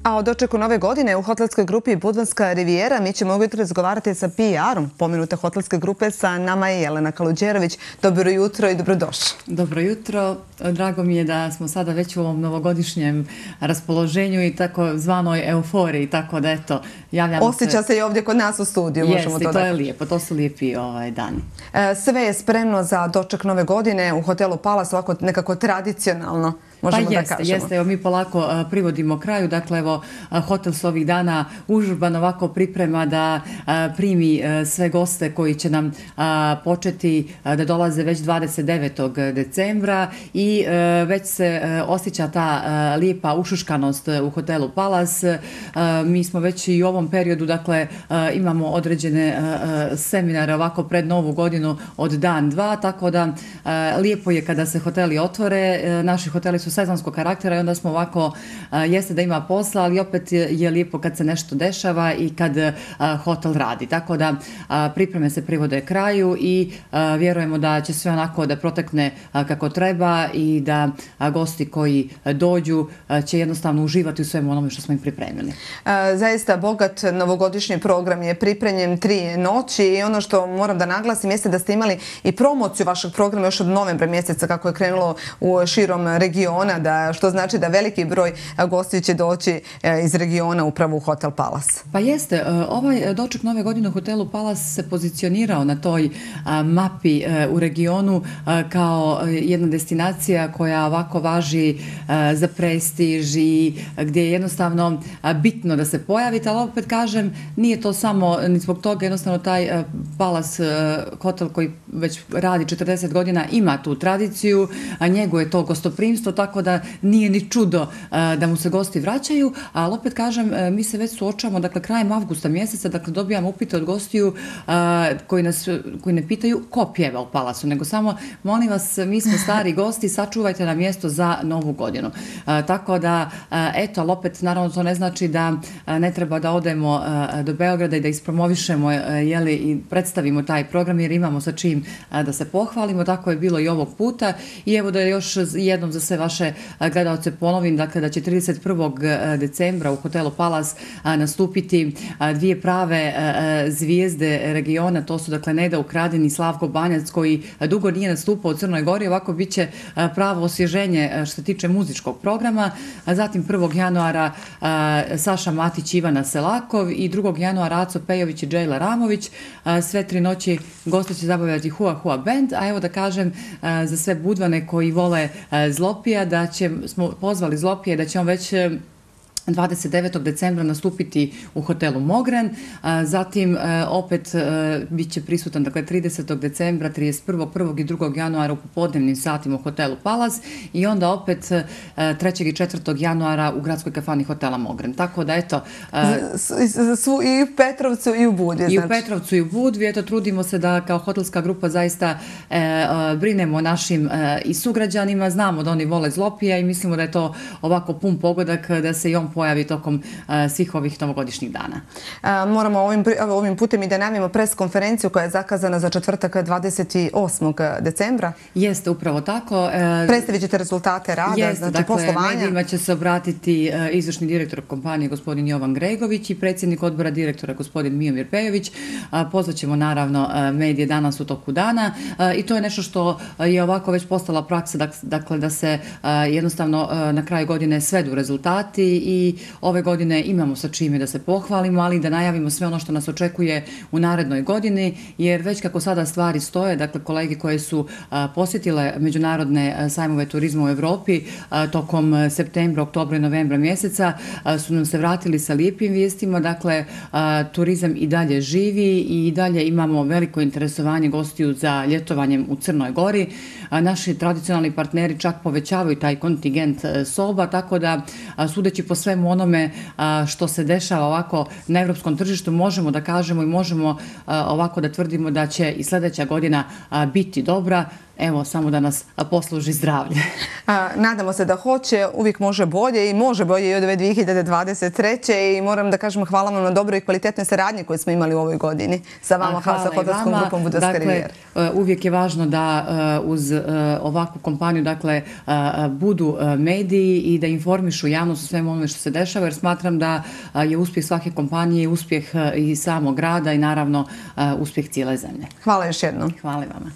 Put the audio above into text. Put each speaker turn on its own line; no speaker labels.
A o dočeku nove godine u hotelskoj grupi Budvanska Rivijera mi ćemo ujutro razgovarati sa PR-om pomenute hotelske grupe. Sa nama je Jelena Kaluđerović. Dobro jutro i dobrodošli.
Dobro jutro. Drago mi je da smo sada već u ovom novogodišnjem raspoloženju i tako zvanoj euforiji, tako da eto, javljamo se.
Osjeća se i ovdje kod nas u studiju.
Jeste, i to je lijepo, to su lijepi dani.
Sve je spremno za doček nove godine u hotelu Palace, ovako nekako tradicionalno.
Pa jeste, evo mi polako privodimo kraju, dakle evo hotel se ovih dana užurban ovako priprema da primi sve goste koji će nam početi da dolaze već 29. decembra i već se osjeća ta lijepa ušuškanost u hotelu Palace. Mi smo već i u ovom periodu, dakle imamo određene seminare ovako pred novu godinu od dan, dva, tako da lijepo je kada se hoteli otvore. Naši hoteli su sezonskog karaktera i onda smo ovako, jeste da ima posla, ali opet je lijepo kad se nešto dešava i kad hotel radi. Tako da pripreme se privode kraju i vjerujemo da će sve onako da protekne kako treba i da gosti koji dođu će jednostavno uživati u svemu onome što smo im pripremili.
Zaista bogat novogodišnji program je pripremljen 3 noći i ono što moram da naglasim jeste da ste imali i promociju vašeg programa još od novembra mjeseca kako je krenulo u širom regiona, što znači da veliki broj gostiju će doći iz regiona upravo u Hotel Palace.
Pa jeste, ovaj doček nove godine u hotelu Palace se pozicionirao na toj mapi u regionu kao jedna destinacija koja ovako važi za prestiž i gdje je jednostavno bitno da se pojavite, ali opet kažem, nije to samo ni zbog toga, jednostavno taj Palace hotel koji već radi 40 godina ima tu tradiciju, a njeguje to gostoprimstvo, tako da nije ni čudo da mu se gosti vraćaju, ali opet kažem, mi se već suočavamo, dakle, krajem avgusta mjeseca, dakle, dobijamo upite od gostiju koji ne pitaju ko pjeva u Palacu, nego samo, molim vas, mi smo stari gosti, sačuvajte nam mjesto za novu godinu. Tako da, eto, ali opet, naravno, to ne znači da ne treba da odemo do Beograda i da ispromovišemo, i predstavimo taj program, jer imamo sa čim da se pohvalimo, tako je bilo i ovog puta i evo da još jednom za sve vaše gledalce ponovim, dakle da će 31. decembra u hotelu Palace nastupiti dvije prave zvijezde regiona, to su dakle Neda Ukradin i Slavko Banjac koji dugo nije nastupao u Crnoj Gori, ovako bit će pravo osvježenje što se tiče muzičkog programa, zatim 1. januara Saša Matić, Ivana Selakov i 2. januara Aco Pejović i Džejla Ramović, sve 3 noći goste će zabavljati Hua Hua Band, a evo da kažem za sve Budvane koji vole Zlopija da smo pozvali Zlopije da će on već 29. decembra nastupiti u hotelu Mogren, zatim opet bit će prisutan, dakle 30. decembra, 31. 1. i 2. januara u popodnevnim satima u hotelu Palace i onda opet 3. i 4. januara u gradskoj kafani hotela Mogren. Tako da eto...
I u Petrovcu i u Budvi.
I u Petrovcu i u Budvi, eto trudimo se da kao hotelska grupa zaista brinemo o našim i sugrađanima, znamo da oni vole Zlopija i mislimo da je to ovako pun pogodak da se i on pojavi tokom svih ovih novogodišnjih dana.
Moramo ovim putem i da najavimo pres konferenciju koja je zakazana za četvrtak 28. decembra.
Jeste, upravo tako.
Predstavit ćete rezultate rada, znači poslovanja.
Dakle, medijima će se obratiti izvršni direktor kompanije gospodin Jovan Gregović i predsjednik odbora direktora gospodin Miomir Pejović. Pozvaćemo naravno medije danas u toku dana i to je nešto što je ovako već postala praksa, dakle da se jednostavno na kraju godine svedu rezultati i ove godine imamo sa čime da se pohvalimo, ali da najavimo sve ono što nas očekuje u narednoj godini, jer već kako sada stvari stoje, dakle kolege koje su posjetile međunarodne sajmove turizma u Evropi tokom septembra, oktobra i novembra mjeseca su nam se vratili sa lijepim vijestima, dakle turizam i dalje živi i dalje imamo veliko interesovanje gostiju za ljetovanjem u Crnoj Gori. Naši tradicionalni partneri čak povećavaju taj kontingent soba, tako da sudeći po svemu onome što se dešava ovako na evropskom tržištu, možemo da kažemo i možemo ovako da tvrdimo da će i sljedeća godina biti dobra. Evo, samo da nas posluži zdravlje.
Nadamo se da hoće, uvijek može bolje i može bolje i od ove 2023. I moram da kažem hvala vam na dobroj i kvalitetnoj saradnji koju smo imali u ovoj godini sa vama, sa hotelskom grupom Budarska Rivijera.
Uvijek je važno da uz ovakvu kompaniju budu mediji i da informišu javnost o svemu onome što se dešava, jer smatram da je uspjeh svake kompanije uspjeh i samog grada i naravno uspjeh cijele zemlje.
Hvala još jednom.
Hvala vama.